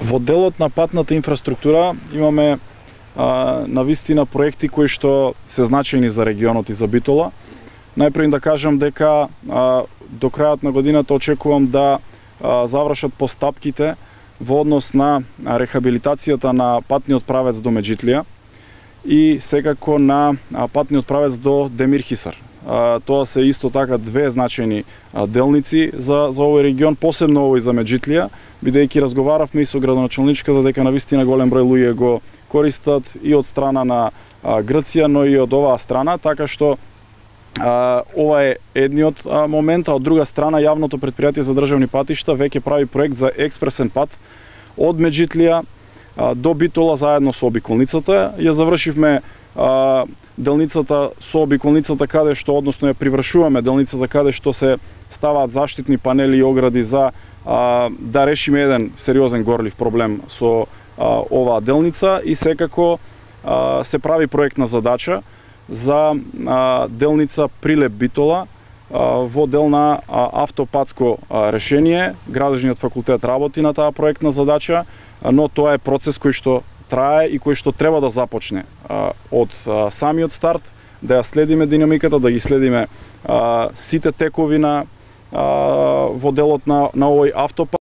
Во делот на патната инфраструктура имаме навистина проекти кои што се значајни за регионот и за Битола. Најпрво да кажам дека до крајот на годината очекувам да завршат постапките во однос на рехабилитацијата на патниот правец до Меджитлија и секако на патниот правец до Демирхисар. Тоа се исто така две значајни делници за овој регион, посебно овој за Меджитлија, бидејќи разговаравме и со градоначалничката дека навистина голем број луѓе го користат и од страна на Грција, но и од оваа страна, така што ова е едниот момент, а од друга страна јавното претпријатие за државни патишта веќе прави проект за експресен пат од Меджитлија до Битола заедно со обиколницата. Ја завршивме делницата со обиколницата каде што, односно ја привршуваме делницата каде што се ставаат заштитни панели и огради за да решиме еден сериозен горлив проблем со оваа делница и секако се прави проектна задача за делница Прилеп Битола во дел на автопатско решение. Градежниот факултет работи на таа проектна задача, но тоа е процес кој што трае и кој што треба да започне од самиот старт, да ја следиме динамиката, да ги следиме сите текови во делот на овој автопат.